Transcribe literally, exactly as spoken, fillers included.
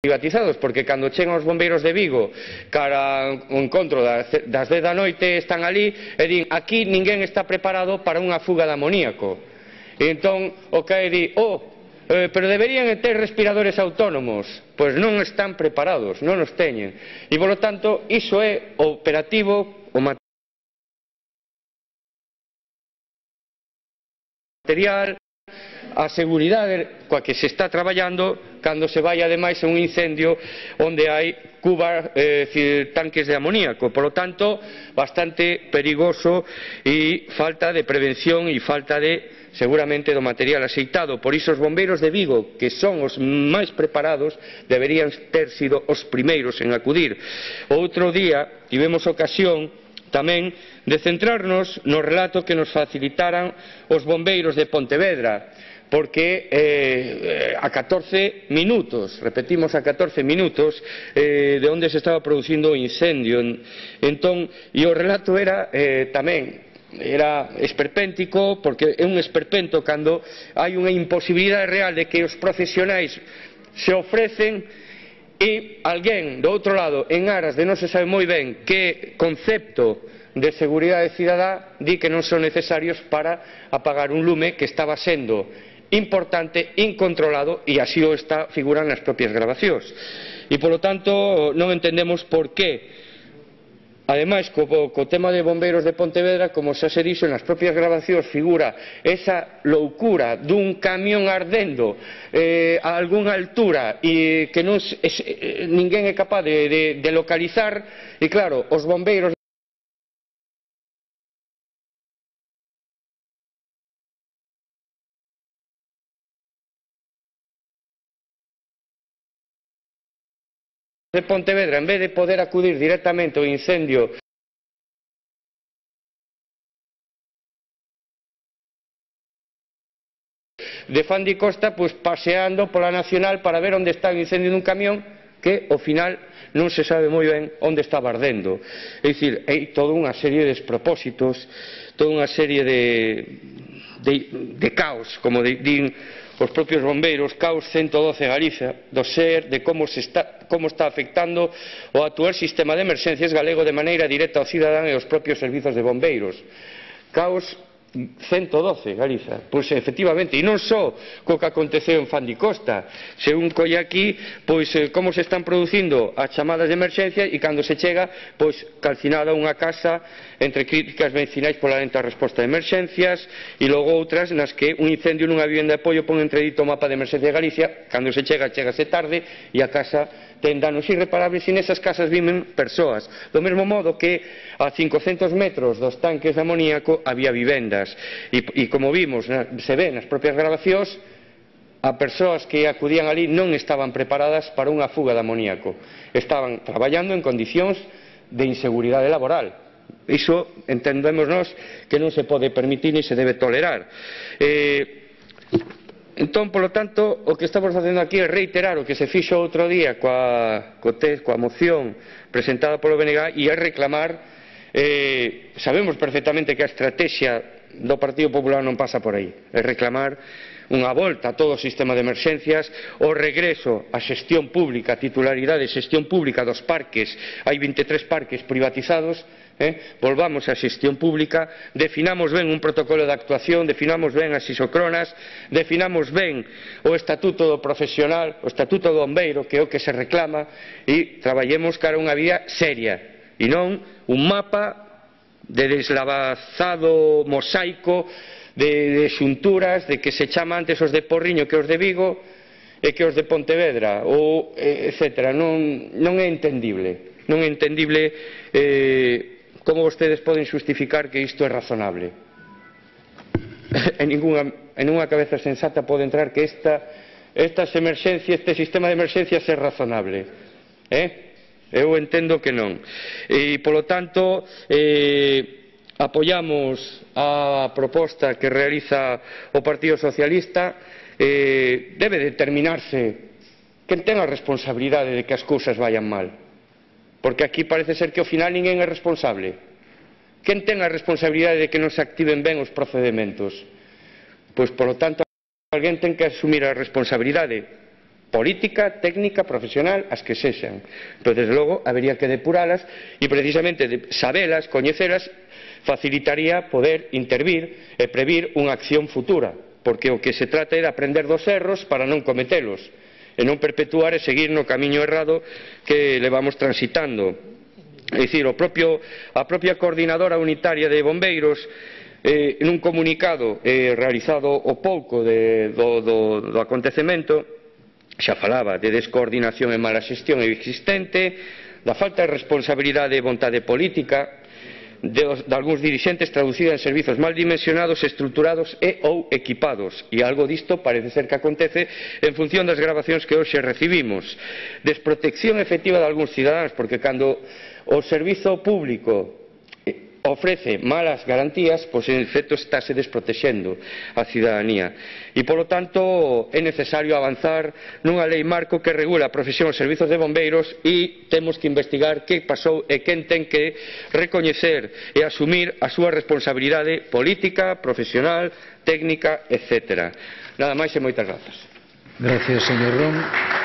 privatizados, porque cando chegan os bombeiros de Vigo cara ao encontro das dez da noite están ali e din aquí ninguén está preparado para unha fuga de amoníaco. E entón o C A E di, oh, eh, pero deberían ter respiradores autónomos. Pois non están preparados, non os teñen. E polo tanto iso é operativo o material, a seguridade coa que se está traballando cando se vai ademais a un incendio onde hai cubas, eh, tanques de amoníaco. Por lo tanto, bastante perigoso e falta de prevención e falta de, seguramente, do material axeitado. Por iso os bombeiros de Vigo, que son os máis preparados, deberían ter sido os primeiros en acudir. Outro día tivemos ocasión tamén de centrarnos no relato que nos facilitaran os bombeiros de Pontevedra, porque eh, a catorce minutos, repetimos a catorce minutos, eh, de onde se estaba producindo o incendio. Entón, e o relato era eh, tamén era esperpéntico, porque é un esperpento cando hai unha imposibilidade real de que os profesionais se ofrecen e alguén do outro lado, en aras de non se sabe moi ben que concepto de seguridade cidadá, di que non son necesarios para apagar un lume que estaba sendo importante, incontrolado, e así o está figuran nas propias grabacións. E polo tanto non entendemos por que, ademais co, co tema de bombeiros de Pontevedra, como xa se dixo nas propias grabacións, figura esa loucura dun camión ardendo eh, a algunha altura e que non, es, eh, ninguén é capaz de, de, de localizar, e claro, os bombeiros de Pontevedra, en vez de poder acudir directamente ao incendio de Fandicosta, pois paseando pola Nacional para ver onde está o incendio dun camión que ao final non se sabe moi ben onde estaba ardendo. É dicir, hai toda unha serie de despropósitos, toda unha serie de, de, de caos, como din os propios bombeiros, caos ciento doce Galicia, do ser de como, se está, como está afectando o actual sistema de emerxencias galego de maneira directa ao cidadán e aos propios servizos de bombeiros. Caos ciento doce Galiza, pois efectivamente, e non só co que aconteceu en Fandicosta, se un colle aquí, pois como se están producindo as chamadas de emerxencia e cando se chega, pois calcinada unha casa entre críticas vecinais pola lenta resposta de emerxencias e logo outras nas que un incendio nunha vivenda de apoio pon entredito o mapa de emerxencia de Galicia, cando se chega, chegase tarde e a casa ten danos irreparables e nesas casas viven persoas. Do mesmo modo que a cincocentos metros dos tanques de amoníaco había vivendas e, e como vimos, se ve nas propias grabacións, a persoas que acudían ali non estaban preparadas para unha fuga de amoníaco. Estaban traballando en condicións de inseguridade laboral. Iso entendemos nós que non se pode permitir ni se debe tolerar. Eh, Entón, polo tanto, o que estamos facendo aquí é reiterar o que se fixo outro día coa, co test, coa moción presentada polo B N G e é reclamar, eh, sabemos perfectamente que a estrategia do Partido Popular non pasa por aí, é reclamar unha volta a todo o sistema de emerxencias, o regreso á xestión pública, a titularidade de xestión pública dos parques, hai vinte e tres parques privatizados, Eh? volvamos á xestión pública, definamos ben un protocolo de actuación, definamos ben as isocronas, definamos ben o estatuto do profesional, o estatuto do bombeiro, que é o que se reclama, e traballemos cara a unha vía seria, e non un mapa de deslavazado mosaico de, de xunturas, de que se chama antes os de Porriño que os de Vigo, e que os de Pontevedra, ou, etcétera. Non, non é entendible, non é entendible eh, como vostedes poden xustificar que isto é razonable. En ninguna, en unha cabeza sensata pode entrar que esta, estas emerxencias, este sistema de emerxencias é razonable. Eh? Eu entendo que non. E, polo tanto, eh, apoiamos a proposta que realiza o Partido Socialista. Eh, debe determinarse quen ten a responsabilidade de que as cousas vayan mal. Porque aquí parece ser que ao final ninguén é responsable. Quen ten a responsabilidade de que non se activen ben os procedementos? Pois, polo tanto, alguén ten que asumir a responsabilidade. política, técnica, profesional, as que sexan. Pero, desde logo, habería que depuralas e, precisamente, de sabelas, coñecelas, facilitaría poder intervir e previr unha acción futura, porque o que se trata é de aprender dos erros para non cometelos, e non perpetuar e seguir no camiño errado que levamos transitando. É dicir, o propio, a propia coordinadora unitaria de bombeiros, eh, nun comunicado eh, realizado o pouco de, do, do, do acontecemento, xa falaba de descoordinación e mala xestión existente, da falta de responsabilidade e vontade política de, de algúns dirixentes traducida en servizos mal dimensionados, estruturados e ou equipados, e algo disto parece ser que acontece en función das grabacións que hoxe recibimos. Desprotección efectiva de algúns cidadáns, porque cando o servizo público ofrece malas garantías, pois en efecto estáse desprotexendo a cidadanía. E, polo tanto, é necesario avanzar nunha lei marco que regula a profesión dos servizos de bombeiros e temos que investigar que pasou e quen ten que recoñecer e asumir a súa responsabilidade política, profesional, técnica, etcétera. Nada máis e moitas grazas. Gracias, señor Ron.